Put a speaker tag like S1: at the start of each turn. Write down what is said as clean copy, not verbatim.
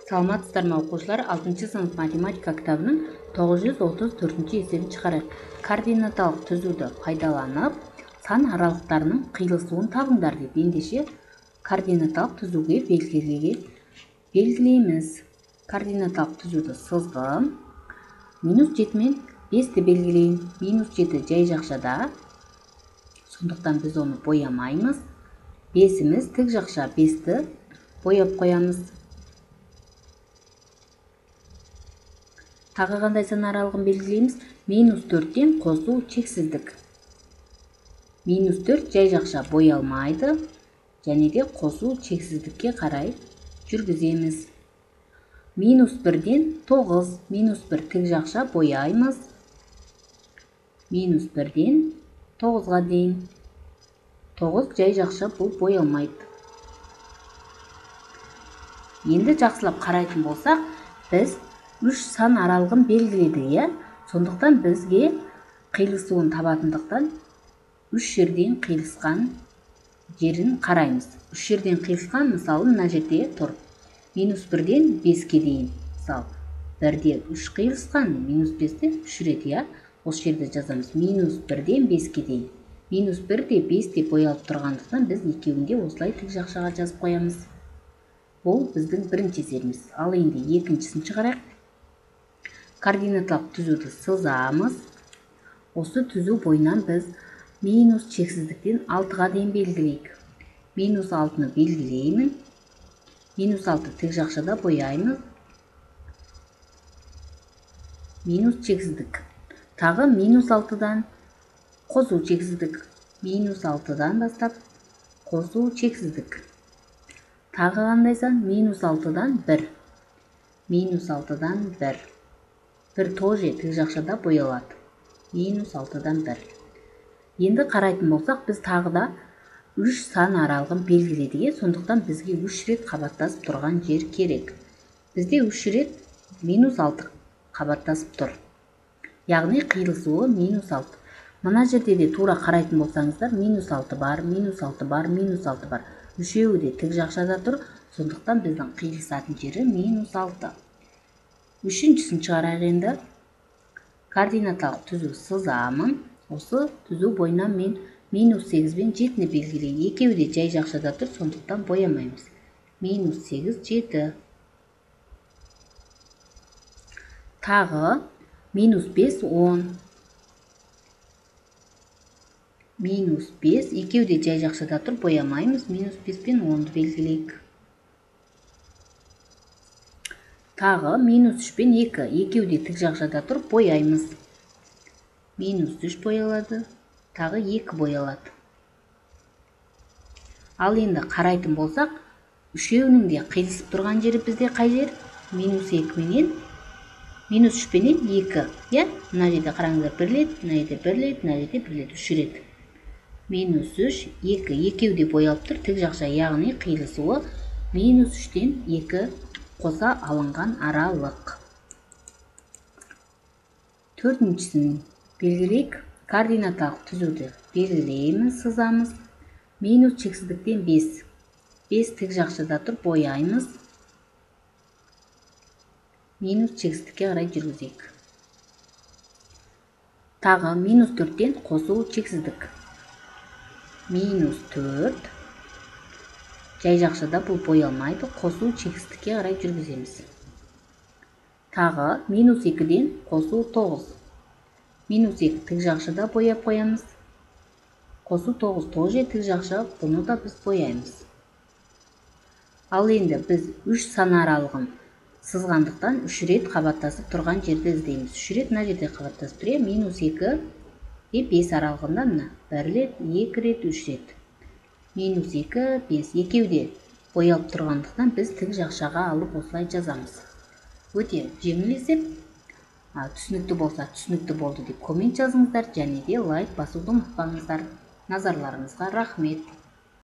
S1: Саламатсыздарбы окуучулар, 6-сынып математика китабынын 934-эсебин чыгарайык. Координаталык түзүүдө пайдаланып, сан аралыктарынын кыйылысуун табыңдар деп эндеше координаталык түзүүгө белгилеймиз. Координаталык түзүүдө сызгым -7 менен 5ти белгилейм. -7 жай жакшада, сондуктан биз ону боямайбыз. 5имиз тик жакша, 5ти боеп коебуз. Тагы кандай сан аралыгын белгилейбиз? -4тен косуу чексиздик. -4 жай жакша боялмайды, және де косуу чексиздикке карай жүргүзөбүз. -1ден 9, -1 тик жакша бояйбыз. -1ден 9га дейин. 9 жай жакша бул боялмайт. Энди жакшылап карайтын болсак, биз 3 сан аралыгын белгиледик, сондуктан бизге кыйылысуун табатындыктан 3 жерден кыйылышкан жерин карайбыз. 3 жерден кыйылышкан, мисалы, мына жерде тур. -1ден 5ке дейин. Мисалы, 1де 3 кыйылышкан, -5де 3 ирет, ошол жерде жазабыз. -1ден 5ке дейин. -1де 5де боялып тургандыктан биз экөөүн де осулай тик жакшага жазып коебуз. Бул биздин биринчи эсебибиз. Ал энди экинчисин чыгарайык. Координаталык түзүүдө сызабыз. Осы түзүү боюнан биз минус чексиздиктен 6га дейин белгилейик. -6ны белгилеймин. -6 тик жакшада бояйбыз. Минус чексиздик. Тагы -6дан косуу чексиздик. -6дан баштап косуу чексиздик. Тагы кандай сан? -6дан 1. -6дан 1. 1 тоже тик жакшада боялат. -6дан 1. Энди карайтын болсак, биз тагы да 3 сан аралыгын белгиледик, сондуктан бизге 3 ирет кабаттасып турган жер керек. Бизде 3 ирет -6 кабаттасып тур. Ягни кыйылысуу -6. Мына жерде де туура карайтын болсаңыздар, -6 бар, -6 бар, -6 бар. Үшөөү де тик жакшада тур, сондуктан биздин кыйылысатын жери -6. Үчүнчүсүн чыгарайык энди. Координаталык түзүү сызамын. Осы түзүү боюнан мен -8 менен 7ни белгилейм. Экөөү де жай жакшада тур, сондуктан боямайбыз. -8, 7. Тагы -5, 10. -5, экөөү де жай жакшада тур, боямайбыз. -5 менен 10ду белгилейик. Тагы -3 менен 2. Экөөү де тик жакшада тур, бояйбыз. -3 боялады. Тагы 2 боялат. Ал энди карайтын болсак, үшөөүнүн де кыйылышып турган жери бизде кай жер? -2 менен -3 менен 2. Мына жерде караңыздар, 1 ирет, мына жерде 1 ирет, мына жерде 1 ирет, 3 ирет. -3, 2. Экөөү де боялып тур, тик жакша, ягни кыйылысуу -3ден 2 косо алынган аралык. Төртүнчүсүн белгилейик. Координаталык түзүүдө белгилейбиз, сызабыз. Минус чексиздиктен 5. 5 тик жакшада тур, бояйбыз. Минус чексиздикке карай жүргүзөйүк. Тагы -4ден косуу чексиздик. -4 жай жакшада бул боялмайды, косуу чексиздикке карай жүргүзөбүз. Тагы -2ден косуу 9. -2 тик жакшада боеп коебуз. Косуу 9 тоже тик жакша, буну да биз бояйбыз. Ал энди биз 3 сан аралыгын сызгандыктан 3 ирет кабаттасып турган жерди издейбиз. 3 ирет мына жерде кабаттасып тур, -2 и 5 аралыгында мына 1 ирет, 2 ирет, 3 ирет. -2, 5. Экөөү де боялып тургандыктан биз тик жакшага алып осулай жазабыз. Өтө жеңил эсеп. Түшүнүктүү болсо түшүнүктүү болду деп коммент жазыңыздар, және де лайк басууду унутпаңыздар. Назарларыңызга рахмет.